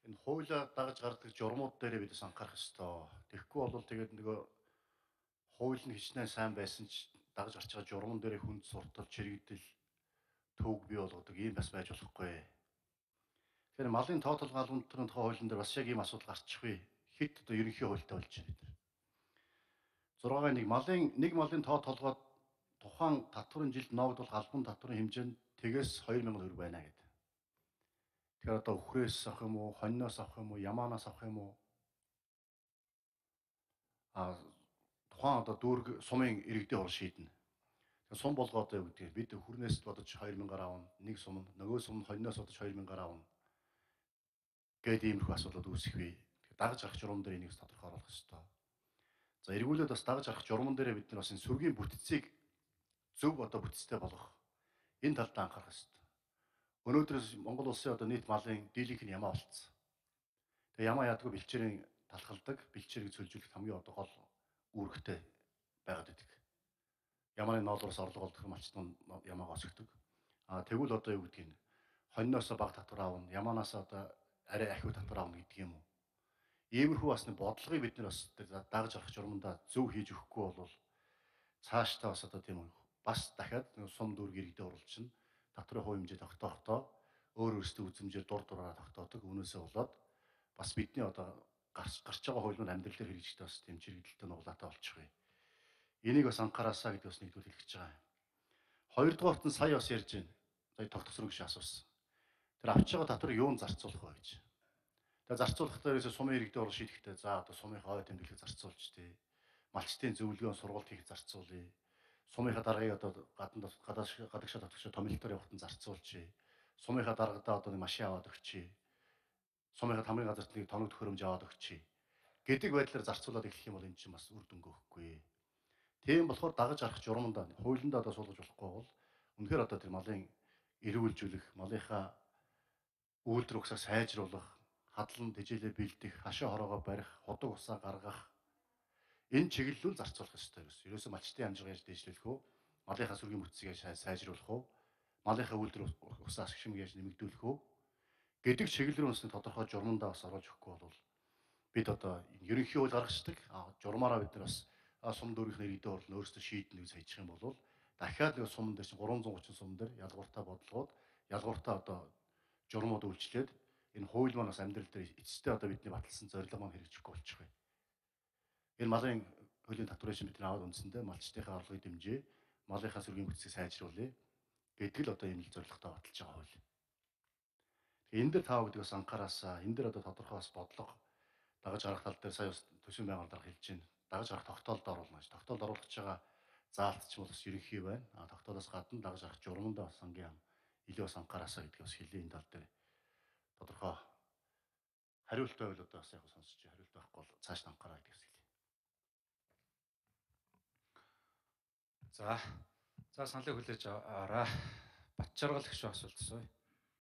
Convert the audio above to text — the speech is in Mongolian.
энэ хуулиа дагаж гардаг журмууд дээр бид бас анхаарах ёстой. Тэгэхгүй бол тэгээд нөгөө хууль нь хичнээн сайн байсан ч дагаж гарч байгаа журман дээр хүнд суртал, чирэгдэл, төвөг бий болгодог ийм бас байж болохгүй. Тэгэхээр малын тоо толгой албантны тухай хуулийн дээр бас яг ийм асуудал гарчих вэ. Хэд одоо ерөнхий хуультай болж байна бид нар. 6-1 малын тоо толгой тухайн татварын жилд ноогдвол албан татварын хэмжээ нь тэгээс 2000 төгрөг байна гэдэг. Тэгэхээр одоо үхрээс авах юм уу, хоньноос авах юм уу, ямаанаас авах юм уу? Тухайн одоо дүүрэг сумын иргэдийн хурал шийднэ. Тэгэхээр сум болгоод юу гэдэг бид хүрнээс бодож 2000-аар авна, нэг сум, нөгөө сум хоньноос бодож 2000-аар авна. Гээд иймэрхүү асуудлууд үүсэх вэ. Дагаж гарах журам дээр энийг тодорхой оруулах ёстой. За эргүүлээд бас дагаж гарах журман дээр бид нар бас энэ сүргийн бүтцийг зөв одоо бүтцтэй болгох энэ талд анхаарах ёстой. Өнөөдрөөс Монгол улсын одоо нийт малын дийлэнх нь ямаа болцсон. Тэгээ ямаа ядгүй бэлчээрийн талхалдаг, бэлчээрийг цөлжүүлэх хамгийн одоо гол үүрэгтэй байгаад идэг. Ямааны ноолроос орлого олдох малчтан ямаагаа өсгдөг. Тэгвэл одоо юу гэдгийг хоньноосоо баг татвар аавна, ямаанаас одоо арай ахиу татвар аавна гэдэг юм уу? Иймэрхүү бас бодлогыг бид нар бас дагаж гарах журмандаа зөв хийж өгөхгүй бол цаашдаа бас одоо тийм бас дахиад сум дүүрэг иргэдэд оруулчихна. Татварын хувь хэмжээ тогтоохдоо өөр өөрсдөө үзмжээр дур дураараа тогтоодог. Үүнээсээ болоод бас бидний одоо гарч байгаа хуулиуд амьдрал дээр хэрэгжих бас тийм чирэгдэлтэй нуглаатай болчих вэ. Энийг бас анхаараасаа гэдэг бас нэгдүгээр хэлэх гэж байгаа юм. Хоёрдугаарт нь сая бас ярьж байна. Сая тогтцорог гэж асуусан. Тэр авч байгаа татварыг юунд зарцуулах вэ гэж. Тэгээ зарцуулах дээрээс сумын иргэдэд орол шийдэхдээ за одоо сумынхаа тэмдэглэлийг зарцуулж тээ. Малчтын зөвлөгөө сургалт хийх зарцуулъя. Сумынхаа даргаыг одоо гадагшаа татгчаа томилтоор явахад нь зарцуулж. Сумынхаа даргадаа одоо нэг машин аваад өгчээ. Сумынхаа тамирын газарт нэг тоног төхөөрөмж аваад өгчээ. Гэдэг байдлаар зарцуулаад эхлэх юм бол энэ чинь бас үр дүнг өгөхгүй. Тийм болохоор дагаж гарах журмандаа хуулиндаа одоо суулгаж болохгүй бол үнэхээр одоо тэр малын эрүүлжүүлэх, малынхаа үйлдвэр угсаа сайжруулах, хадлан тэжээлээ бэлдэх, хашаа хороогоо барих, худаг усаа гаргах энэ чиглэлүүл зарцуулах ёстой юм. Ерөөсөө малчтын амжиргаа яаж дэвшлүүлэх вэ? Малынхаа сүргийн бүтцийг яаж сайжруулах вэ? Малынхаа үйлдвэр усаа ашигшмыг яаж нэмэгдүүлэх вэ? Гэдэг чиглэл рүү тодорхой журмандаа бас оруулж өгөхгүй бол бид одоо ерөнхий хууль гаргацдаг журмаараа бид нар бас сум дүүргийн иргэдийн хурал нь өөрсдөө шийднэ гэж хайчих юм бол дахиад нэг суман дээр чинь 330 сум дээр ялгууртаа бодлогоод ялгууртаа одоо журмууд үйлчлээд энэ хууль маань бас амьдрал дээр эцэстээ одоо бидний баталсан зорилго маань хэрэгжихгүй болчих вэ. Энэ малын хуулийн татварын шин бидний аваад үндсэндээ малчтынхаа орлогыг дэмжээ, малынхаа сүргийн бүтцийг сайжруулъя гэдэг л одоо ийм л зорилготой баталж байгаа хууль. Тэгээ энэ дээр таа гэдэг бас анхаараасаа энэ дээр одоо тодорхой бас бодлого дагаж гарах тал дээр сая төсвийн байнгын дарга хэлж байна. Дагаж гарах тогтоолд оруулна гэж. Тогтоолд оруулах байгаа заалт ч бас ерөнхий байна. Тогтоолоос гадна дагаж гарах журмандаа бас ангийн илүү бас анхаараасаа гэдгийг бас хэлээ энэ тал дээр. Тодорхой хариулт байвал одоо бас яг сонсож хариулт байхгүй бол цааш нь анхаараа гэдгийг хэлье. За саналыг хүлээж аваарай. Батчаргал гэх шиг асуулт асууя.